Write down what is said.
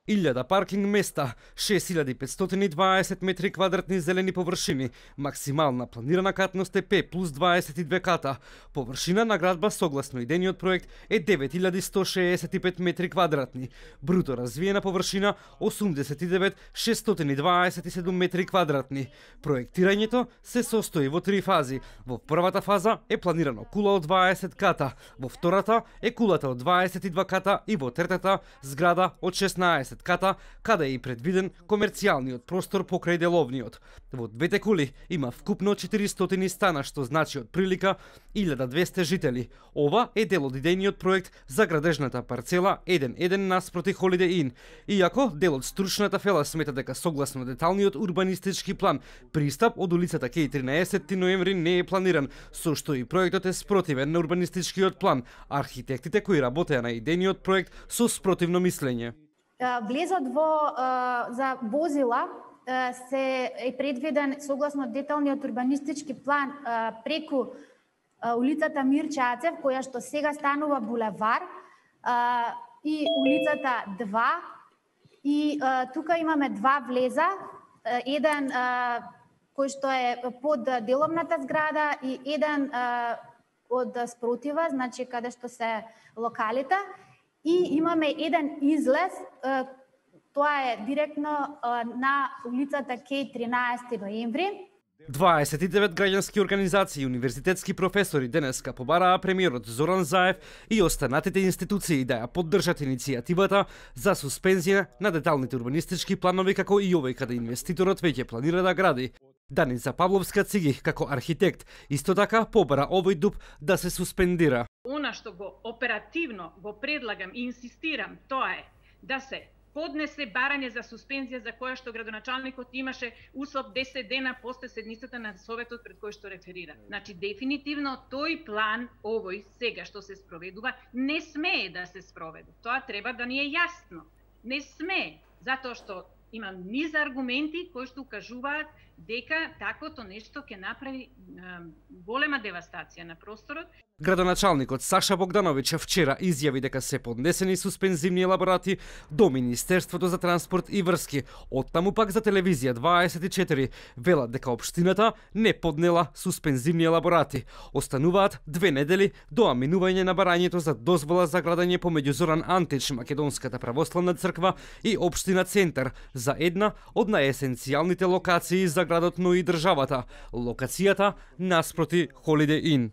1000 паркинг места, 6520 метри квадратни зелени површини, максимална планирана катност е П плюс 22 ката. Површина на градба согласно идениот проект е 9165 метри квадратни. Бруто развиена површина 89627 метри квадратни. Проектирањето се состои во 3 фази. Во првата фаза е планирано кула од 20 ката, во втората е кулата од 22 ката и во третата зграда од 16 ката, каде е и предвиден комерцијалниот простор покрај деловниот. Во двете кули има вкупно 400 стана, што значи од прилика 1200 жители. Ова е дел од идејниот проект за градежната парцела 1-1 наспроти Holiday Inn. Иако дел од стручната фела смета дека согласно деталниот урбанистички план, пристап од улицата кај 13 ноември не е планиран, со што и проектот е спротивен на урбанистичкиот план. Архитектите кои работеа на идејниот проект со спротивно мислење. Влезот за возила се е предвиден согласно деталниот урбанистички план преку улицата Мирче Ацев, која што сега станува булевар, и улицата 2. И тука имаме 2 влеза, еден кој што е под деловната зграда и еден од спротива, значи каде што се локалите. И имаме еден излез, тоа е директно на улицата кај 13 ноември. 29 граѓански организации и универзитетски професори денеска побараа премиерот Зоран Заев и останатите институции да ја поддржат иницијативата за суспензија на деталните урбанистички планови, како и овој каде инвеститорот веќе планира да гради. Даница Павловска-Циги, како архитект, исто така побара овој дуб да се суспендира. Она што го оперативно го предлагам и инсистирам, тоа е да се поднесе барање за суспензија за која што градоначалникот имаше услов 10 дена после седницата на Советот пред кој што реферира. Значи, дефинитивно тој план, овој сега што се спроведува, не смее да се спроведе. Тоа треба да ни е јасно. Не смее, затоа што има низ аргументи кои што укажуваат дека таквото нешто ќе направи голема девастација на просторот. Градоначалникот Саша Богдановиќ вчера изјави дека се поднесени суспензивни елаборати до Министерството за транспорт и врски. Оттаму пак за телевизија 24 велат дека општината не поднела суспензивни елаборати. Остануваат 2 недели до аминување на барањето за дозвола за градење помеѓу Зоран Антич, Македонската православна црква и општина Центар за една од најесенцијалните локации за градот, но и државата, локацијата наспроти Holiday Inn.